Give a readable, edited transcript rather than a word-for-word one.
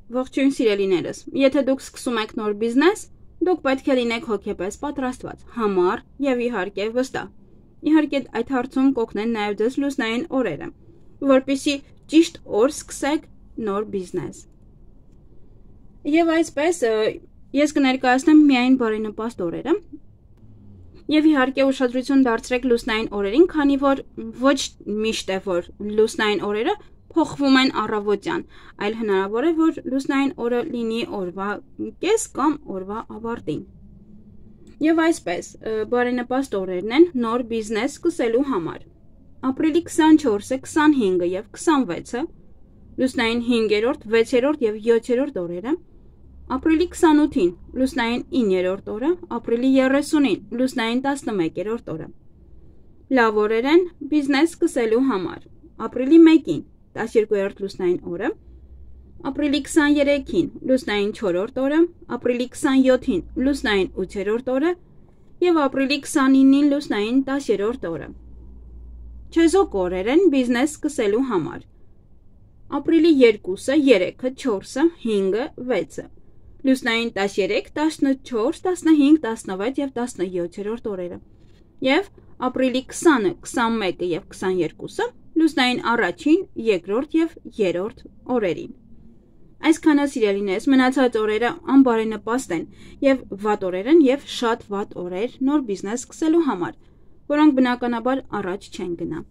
Ողջույն սիրելիներս, եթե դուք սկսում եք նոր բիզնես, դուք պետք է լինեք հոգեպես պատրաստված, համառ եւ իհարկե վստահ։ Իհարկե այդ հարցում կօգնեն նաեւ ձեզ լուսնային օրերը, որպեսզի ճիշտ օր սկսեք նոր բիզնես։ Եվ այսպես ես կներկայացնեմ միայն բարենպաստ օրերը։ Եվ իհարկե ուշադրություն դարձրեք լուսնային օրերին, քանի որ ոչ միշտ է որ լուսնային օրերը փոխվում են առավոտյան, այլ հնարավոր է, որ լուսնային օրը լինի օրվա կես կամ օրվա ավարտին։ Եվ այսպես, բարենպաստ օրերն են նոր բիզնես սկսելու համար։ Ապրիլի 24-ը, 25-ը եւ 26-ը, լուսնային 5-րդ, 6-րդ եւ 7-րդ օրերը, ապրիլի 28-ին, լուսնային 9-րդ օրը, ապրիլի 30-ին, լուսնային 11-րդ օրը։ Լավ օրեր են բիզնես սկսելու համար։ Ապրիլի 1-ին 12-րդ լուսնային օրը, ապրիլի 23-ին լուսնային 4-րդ օրը, ապրիլի 27-ին լուսնային 8-րդ օրը եւ ապրիլի 29-ին լուսնային 10-րդ օրը։ Չեզոք օրեր են բիզնես սկսելու համար։ Ապրիլի 2-ը, 3-ը, 4-ը, 5-ը, 6-ը, լուսնային 13, 14, 15, 16 եւ 17-րդ օրերը։ Եվ ապրիլի 20-ը, 21-ը եւ 22-ը լուսնային առաջին, երկրորդ եւ երրորդ օրերին։ Այսքանը սիրելիներս, մնացած օրերը անբարենպաստ են եւ վատ օրեր են եւ շատ վատ օրեր նոր բիզնես սկսելու համար, որոնք բնականաբար առաջ չեն գնա։